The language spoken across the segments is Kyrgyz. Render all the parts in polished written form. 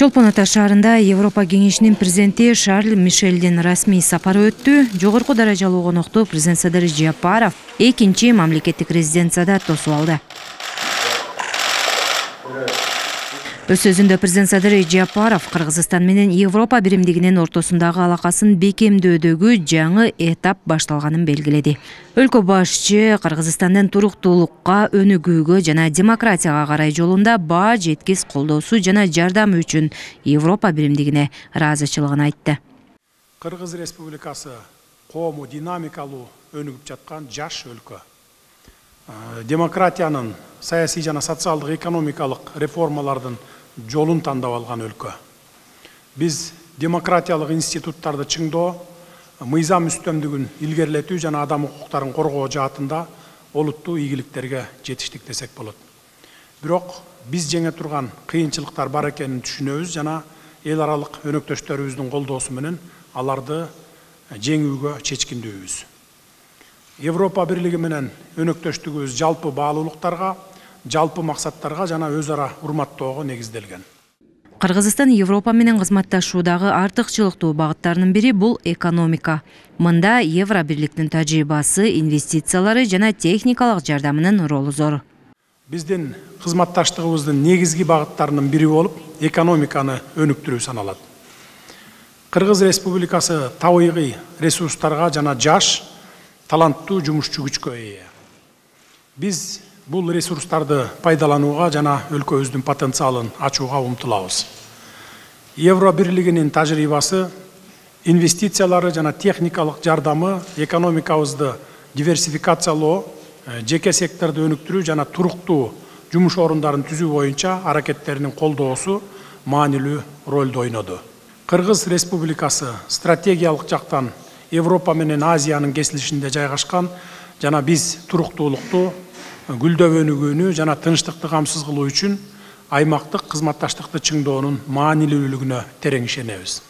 Чолпон Ата шаарында Европа кеңешинин президенти Шарль Мишелдин расмий сапары өттү. Жогорку даражалуу конокту президент Садыр Жапаров экинчи мамлекеттик резиденцияда тосуп алды. Өз сөзүндө президент Садыр Жапаров Кыргызстан менен Европа биримдигинин ортосундагы алакасын бекемдөөдөгү жаңы этап башталганын белгиледи. Өлкө башчы Кыргызстандын туруктуулукка, өнүгүүгө жана демократияга карай жолунда баа жеткис колдоосу жана жардамы үчүн Европа биримдигине ыраазычылыгын айтты. Кыргыз Республикасы коому динамикалуу өнүгүп жаткан жаш өлкө. Демократиянын, саясий жана социалдык экономикалык реформалардын жолун тандап алган өлкө. Биз демократиялык институттарды чыңдоо, мыйзам үстөмдүгүн илгерилетүү жана адам укуктарын коргоо жаатында олуттуу ийгиликтерге жетиштик десек болот. Бирок биз жеңе турган кыйынчылыктар бар экенин түшүнөбүз жана эл аралык өнөктөштөрүбүздүн колдоосу менен аларды жеңүүгө чечкиндүүбүз. Европа бирлиги менен өнөктөштүгүбүз жалпы баалуулуктарга, жалпы максаттарга жана өз ара урматтоого негизделген. Кыргызстан Европа менен кызматташуудагы артыкчылыктуу багыттарынын бири бул экономика. Мында Евро бирликтин тажрыйбасы, инвестициялары жана техникалык жардамынын ролу зор. Биздин кызматташтыгыбыздын негизги багыттарынын бири болуп, экономиканы өнүктүрүү саналат. Кыргыз Республикасы табигый ресурстарга жана жаш, таланттуу жумушчу күчкө ээ. Биз бул ресурстарды пайдаланууга жана өлкөбүздүн потенциалын ачууга умтулабыз. Евро бирлигинин тажрыйбасы, инвестициялары жана техникалык жардамы экономикабызды диверсификациялоо, жеке секторду өнүктүрүү жана туруктуу жумуш орундарын түзүү боюнча аракеттеринин колдоосу маанилүү ролду ойноду. Кыргыз Республикасы стратегиялык жактан Европа менен Азиянын кесилишинде жайгашкан жана биз туруктуулукту, гүлдөп өнүгүүнү жана тынчтыкты камсыз кылуу үчүн аймактык кызматташтыкты чыңдоонун маанилүүлүгүнө терең ишенебиз.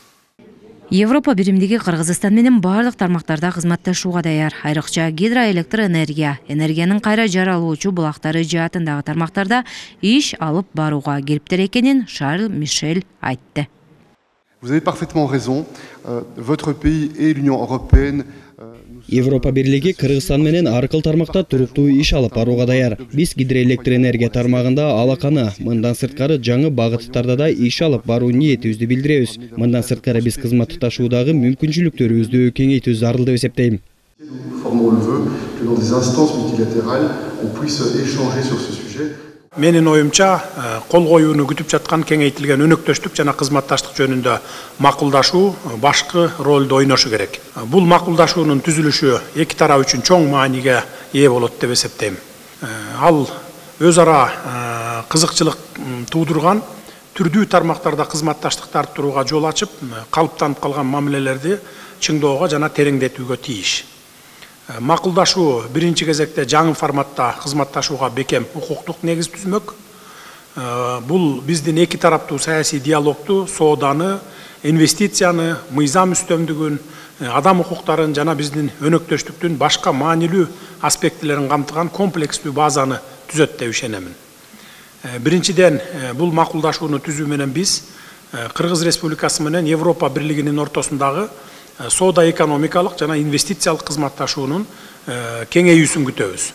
Европа биримдиги Кыргызстан менен бардык тармактарда кызматташууга даяр. Айрыкча гидроэлектроэнергия, энергиянын кайра жаралуучу булактары жаатындагы тармактарда иш алып барууга кириптер экенин Шарль Мишель айтты. Vous avez parfaitement raison. Votre pays et l'Union européenne. Европа бирлиги Кыргызстан менен аркыл тармакта туруктуу иш алып барууга даяр. Биз гидроэлектроэнергия тармагында алаканы, мындан сырткары жаңы багыттарда да иш алып баруу ниетибизди билдиребиз. Мындан сырткары биз кызматташуудагы мүмкүнчүлүктөрүбүздү кеңейтүү зарыл деп эсептейм. Менин оюмча, кол коюуну күтүп жаткан кеңейтилген өнөктөштүк жана кызматташтык жөнүндө макулдашуу башкы ролду ойношу керек. Бул макулдашуунун түзүлүшү эки тарап үчүн чоң мааниге ээ болот деп эсептейм. Ал өз ара кызыкчылык туудурган түрдүү тармактарда кызматташтыкты арттырууга жол ачып, калыптанып калган мамилелерди чыңдоого жана тереңдетүүгө тийиш. Макулдашуу биринчи кезекте жаңы форматта кызматташууга бекем укуктук негиз түзмөк. Бул биздин эки тараптуу саясий диалогту, сооданы, инвестицияны, мыйзам үстөмдүгүн, адам укуктарын жана биздин өнөктөштүктүн башка маанилүү аспектилерин камтыган комплекстүү базаны түзөт деп ишенемин. Биринчиден, бул макулдашууну түзүү менен биз Кыргыз Республикасы менен Европа бирлигинин ортосундагы соода экономикалык жана инвестициялык кызматташуунун кеңейүүсүн күтөбүз.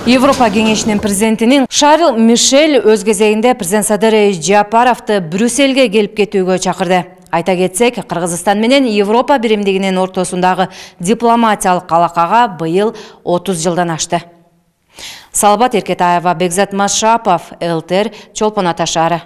Европа кеңешинин президентинин Шарль Мишель өз кезегинде президент Садыр Жапаровду Брюссельге келип кетүүгө чакырды. Айта кетсек, Кыргызстан менен Европа биримдигинин ортосундагы дипломатиялык алакага быйыл 30 жылдан ашты. Салбат Эркетаева, Бекзат Машапов, ЛТР, Чолпон Ата шаары.